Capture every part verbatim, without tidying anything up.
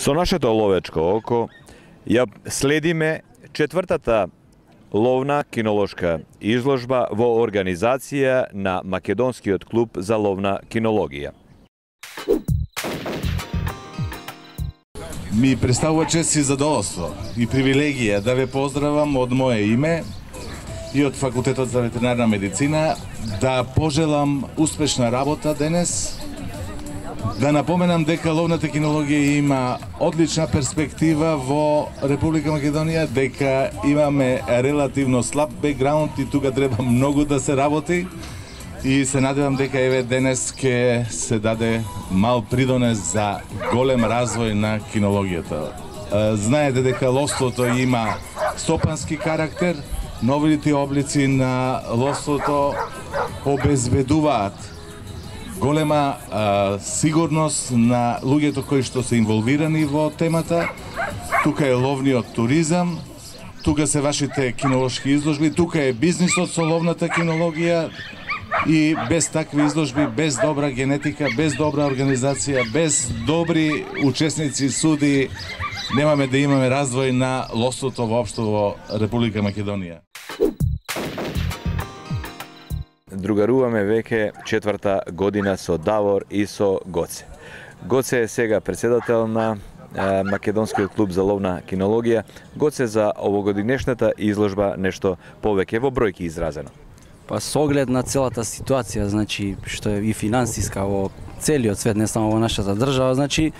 Со нашето ловечко око ја следиме четвртата ловна кинолошка изложба во организација на Македонскиот клуб за ловна кинологија. Ми представува чест и задоволство и привилегија да ве поздравам од мое име и од Факултетот за ветеринарна медицина, да пожелам успешна работа денес, да напоменам дека ловната кинологија има одлична перспектива во Република Македонија, дека имаме релативно слаб бекграунд и тука треба многу да се работи, и се надевам дека еве денес ќе се даде мал придонес за голем развој на кинологијата. Знаете дека ловството има стопански карактер, новите облици на ловството обезбедуваат голема а, сигурност на луѓето кои што се инволвирани во темата. Тука е ловниот туризам, тука се вашите кинолошки изложби, тука е бизнисот со ловната кинологија, и без такви изложби, без добра генетика, без добра организација, без добри учесници, суди, немаме да имаме развој на ловството воопшто во Република Македонија. Другаруваме веќе четврта година со Давор и со Гоце. Гоце е сега председател на е, Македонскиот клуб за ловна кинологија. Гоце, за овогодинешната изложба нешто повеќе во бројки изразено. Па со оглед на целата ситуација, значи што е и финансиска во целиот свет, не само во нашата држава, значи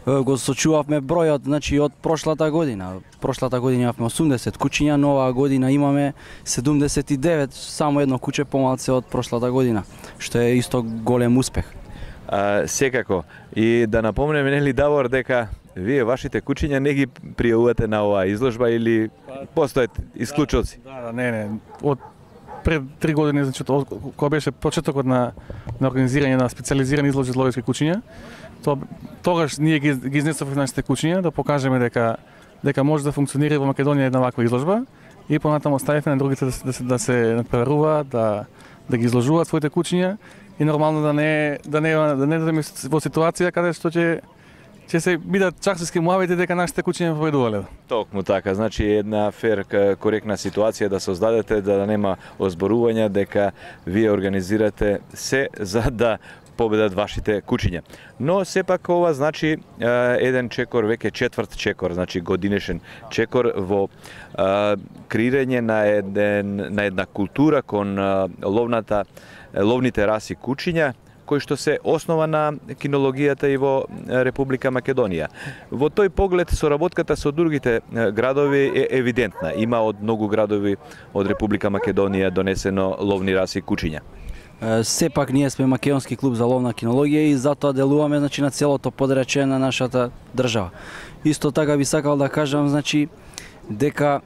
го сочувавме бројот, значи од прошлата година. Прошлата година имавме осумдесет куќиња, нова година имаме седумдесет и девет, само едно куќе помалце од прошлата година, што е исто голем успех. А, секако, и да напомнеме, нели, Давор, дека вие вашите куќиња не ги пријавувате на оваа изложба или постојат исклучоци? Да, да, не, не. Од пред три години, значи, кога беше почетокот на, на организирање на специализирани изложби за ловечки куќиња, то, тогаш ние ги, ги изнесовме нашите куќиња да покажеме дека дека може да функционира во Македонија една ваква изложба, и понатаму оставивме на другите да се да се, да се надпреваруваат, да да ги изложуваат своите куќиња, и нормално да не да не да не да во ситуација каде што ќе ќе се бидат чаксиски муавите дека нашите куќиња победувале. Токму така, значи една фер, коректна ситуација да создадете, да нема озборувања, дека вие организирате се за да победат вашите куќиња. Но сепак ова значи еден чекор, веќе четврт чекор, значи годинешен чекор во е, креирање на еден на една култура кон ловната ловните раси куќиња, кој што се основа на кинологијата и во Република Македонија. Во тој поглед соработката со другите градови е евидентна. Има од многу градови од Република Македонија донесено ловни раси куќиња. Сепак ние сме Македонски клуб за ловна кинологија и затоа делуваме, значи, на целото подрачје на нашата држава. Исто така би сакал да кажам, значи, дека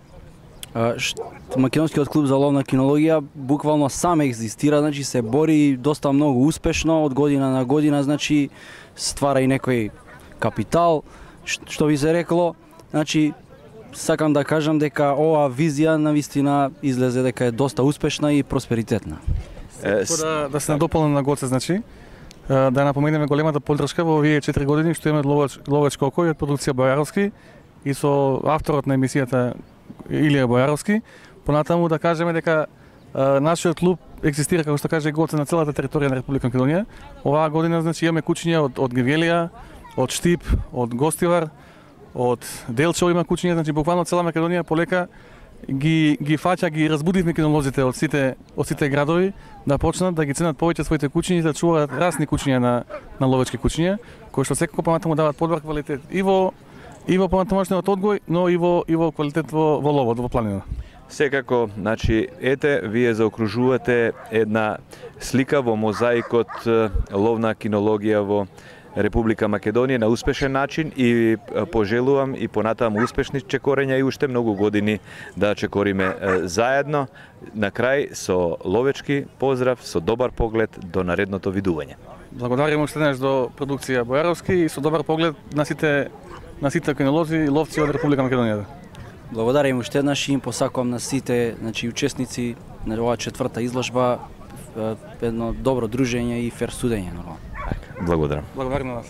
Македонскиот клуб за ловна кинологија буквално сам екзистира, значи се бори доста многу успешно од година на година, значи ствара и некој капитал, што би се рекло, значи сакам да кажам дека оваа визија навистина излезе дека е доста успешна и просперитетна. Да, да се надополнам на Гоце, значи, да напоменеме големата поддршка во овие четири години што имаме ловеч, ловечко око и од продукција Бојаровски, и со авторот на емисијата Илија Бојаровски. Понатаму да кажеме дека а, нашиот клуб екзистира, како што каже Гоце, на целата територија на Република Македонија. Оваа година, значи, имаме куќиња од, од Гевелија, од Штип, од Гостивар, од Делчево има куќиња, значи буквално цела Македонија полека ги ги фаќа, ги разбудивме кинолозите од сите од сите градови да почнат да ги ценат повеќе своите куќиња и да чуваат расни куќиња на на ловечки куќиња, кои што секако понатаму даваат подобар квалитет и во и во понатамошниот одгој, но и во и во квалитет во, во ловот, во планина. Секако, значи, ете, вие заокружувате една слика во мозаикот ловна кинологија во Република Македонија на успешен начин, и пожелувам и понатаму успешни чекорења и уште многу години да чекориме заедно. На крај со ловечки поздрав, со добар поглед до наредното видување. Благодарим уште еднаш до продукција Бојаровски и со добар поглед на сите на сите кинолози и ловци од Република Македонија. Благодарим уште еднаш и им посакувам на сите, значи, учесници на оваа четврта изложба едно добро дружење и фер судење, нормално. Благодарам. Благодарам на вас.